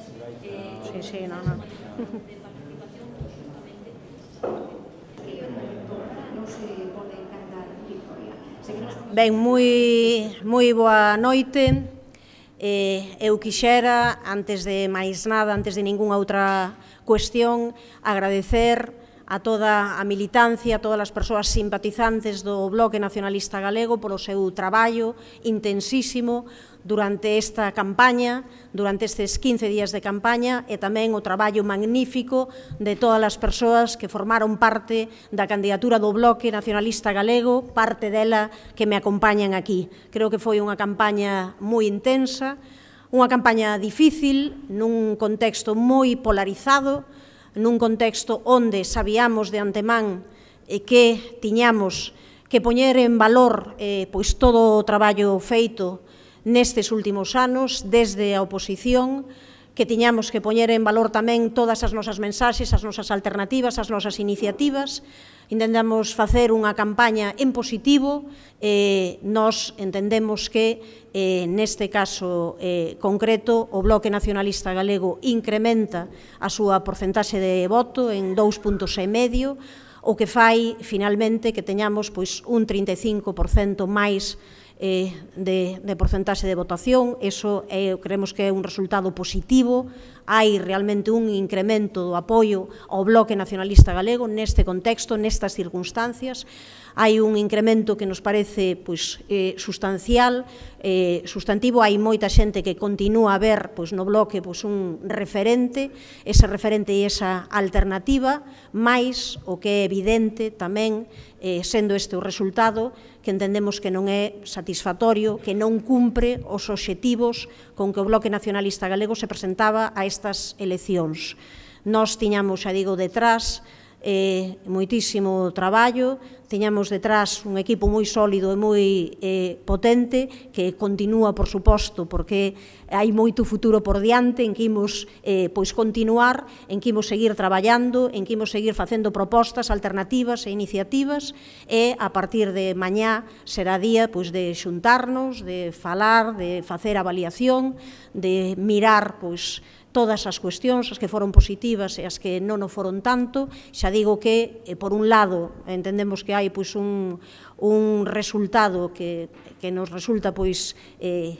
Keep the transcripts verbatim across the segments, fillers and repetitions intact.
Sí, sí, no, no. Ben, moi, moi boa noite. Eh, eu quixera, antes de máis nada, antes de ningunha outra cuestión, agradecer a toda a militancia, a todas as persoas simpatizantes do Bloque Nacionalista Galego polo seu traballo intensísimo durante esta campaña, durante estes quince días de campaña, e tamén o traballo magnífico de todas as persoas que formaron parte da candidatura do Bloque Nacionalista Galego, parte dela que me acompañan aquí. Creo que foi unha campaña moi intensa, unha campaña difícil, nun contexto moi polarizado, nun contexto onde sabíamos de antemán que tiñamos que poñer en valor eh, pois todo o traballo feito nestes últimos anos, desde a oposición, que tiñamos que poñer en valor tamén todas as nosas mensaxes, as nosas alternativas, as nosas iniciativas. Intentamos facer unha campaña en positivo, eh, nós entendemos que eh, neste caso eh, concreto o Bloque Nacionalista Galego incrementa a súa porcentaxe de voto en dous puntos e medio, o que fai finalmente que teñamos pois, un trinta e cinco por cento máis Eh, de, de porcentaxe de votación. Eso eh, creemos que é un resultado positivo. Hai realmente un incremento do apoio ao Bloque Nacionalista Galego neste contexto, nestas circunstancias. Hai un incremento que nos parece pois, eh, sustancial, eh, sustantivo. Hai moita xente que continúa a ver pois, no Bloque pois, un referente, ese referente e esa alternativa, máis o que é evidente tamén, eh, sendo este o resultado, que entendemos que non é satisfactorio, que non cumpre os obxectivos con que o Bloque Nacionalista Galego se presentaba a estas eleccións. Nós tiñamos, xa digo, detrás eh, moitísimo traballo, tiñamos detrás un equipo moi sólido e moi eh, potente, que continúa, por suposto, porque hai moito futuro por diante, en que imos eh, pois continuar, en que imos seguir traballando, en que imos seguir facendo propostas, alternativas e iniciativas, e a partir de mañá será día pois, de xuntarnos, de falar, de facer avaliación, de mirar pois, todas as cuestións, as que foron positivas e as que non o foron tanto. Xa digo que, eh, por un lado, entendemos que hai pois, un, un resultado que, que nos resulta pois, eh,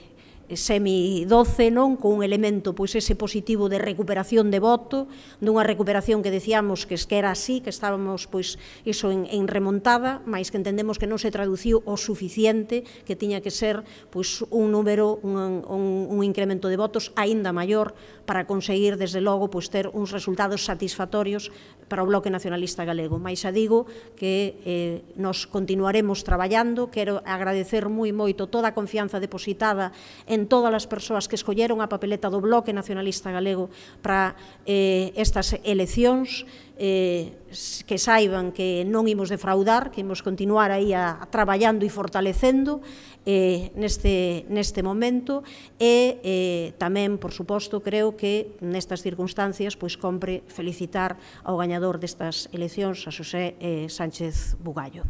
semi-doce, non? Con un elemento, pois, ese positivo de recuperación de voto, dunha recuperación que decíamos que, que era así, que estábamos, pois, iso en, en remontada, mas que entendemos que non se traduciu o suficiente, que tiña que ser, pois, un número, un, un, un incremento de votos aínda maior para conseguir, desde logo, pois, ter uns resultados satisfactorios para o Bloque Nacionalista Galego. Mais xa digo que eh, nos continuaremos traballando. Quero agradecer moi moito toda a confianza depositada en todas as persoas que escolleron a papeleta do Bloque Nacionalista Galego para eh, estas eleccións, eh, que saiban que non imos defraudar, que imos continuar aí a, a traballando e fortalecendo eh, neste, neste momento, e eh, tamén, por suposto, creo que nestas circunstancias pois compre felicitar ao gañador destas eleccións, a Xosé eh, Sánchez Bugallo.